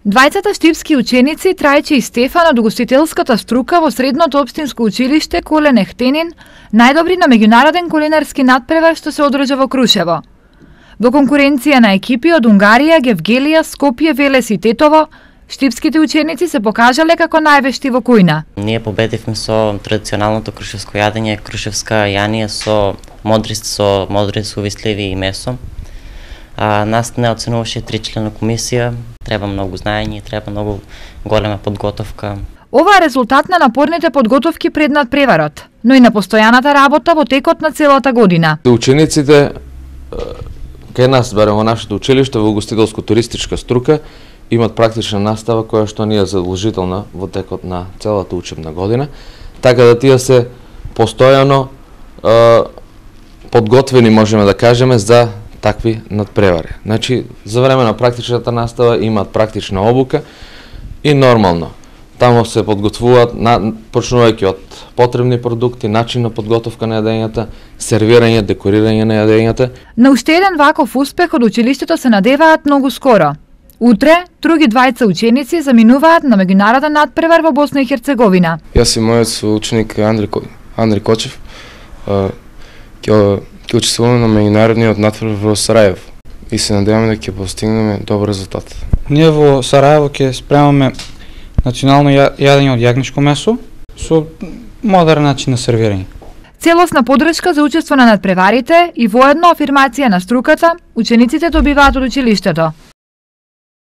Двајцата штипски ученици Трајче и Стефан од угостителската струка во Средното општинско училиште Колен Ехтенин најдобри на меѓународен кулинарски натпревар што се одржа во Крушево. Во конкуренција на екипи од Унгарија, Гевгелија, Скопје, Велес и Тетово, штипските ученици се покажале како највешти во кујна. Ние победивме со традиционалното крушевско јадење, крушевска јанија со модри сувисливи и месо. Нас не оценуваше 3-члена комисија, треба многу знаење, треба многу голема подготовка. Ова е резултат на напорните подготовки пред надпреварот, но и на постојаната работа во текот на целата година. Учениците кај нас, барем во нашето училиште, во угостителско-туристичка струка, имат практична настава која што не е задолжителна во текот на целата учебна година, така да тие се постојано подготвени, можеме да кажеме, за такви надпревари. Значи, за време на практичната настава имаат практична обука и нормално. Тамо се подготвуваат, почнувајќи од потребни продукти, начин на подготовка на јадењата, сервирање, декорирање на јадењата. На уште еден ваков успех од училиштето се надеваат многу скоро. Утре, други двајца ученици заминуваат на меѓународен надпревар во Босна и Херцеговина. Јас и мојот соученик Андри Кочев ќе учествуваме на меѓународниот надпревар во Сарајево и се надеваме дека ќе постигнеме добар резултат. Ние во Сарајево ќе спремаме национално јадење од јагнешко месо со модерен начин на сервирање. Целосна подршка за учество на надпреварите и воедно афирмација на струката, учениците добиваат од училиштето.